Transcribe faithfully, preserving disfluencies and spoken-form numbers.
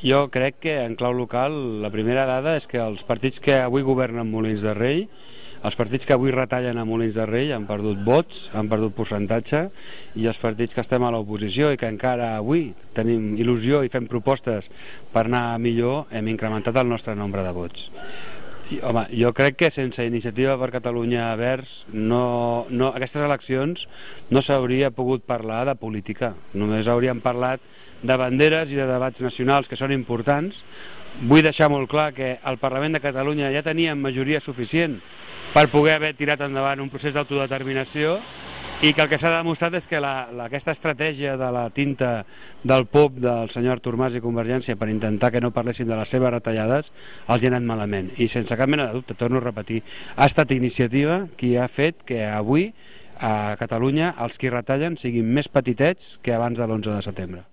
Jo crec que en clau local la primera dada és que els partits que avui governen Molins de Rei, els partits que avui retallen a Molins de Rei han perdut vots, han perdut percentatge, i els partits que estem a l'oposició i que encara avui tenim il·lusió i fem propostes per anar millor, hem incrementat el nostre nombre de vots. I, home, jo crec que sense Iniciativa per Catalunya Verds no, no, aquestes eleccions no s'hauria pogut parlar de política, només hauríem parlat de banderes i de debats nacionals que són importants. Vull deixar molt clar que al Parlament de Catalunya ja teníem majoria suficient per poder haver tirat endavant un procés d'autodeterminació i que el que s'ha demostrat és que la, la, aquesta estratègia de la tinta del pop del senyor Artur Mas i Convergència per intentar que no parléssim de les seves retallades els hi ha anat malament, i sense cap mena de dubte, torno a repetir, ha estat Iniciativa qui ha fet que avui a Catalunya els qui retallen siguin més petitets que abans de l'onze de setembre.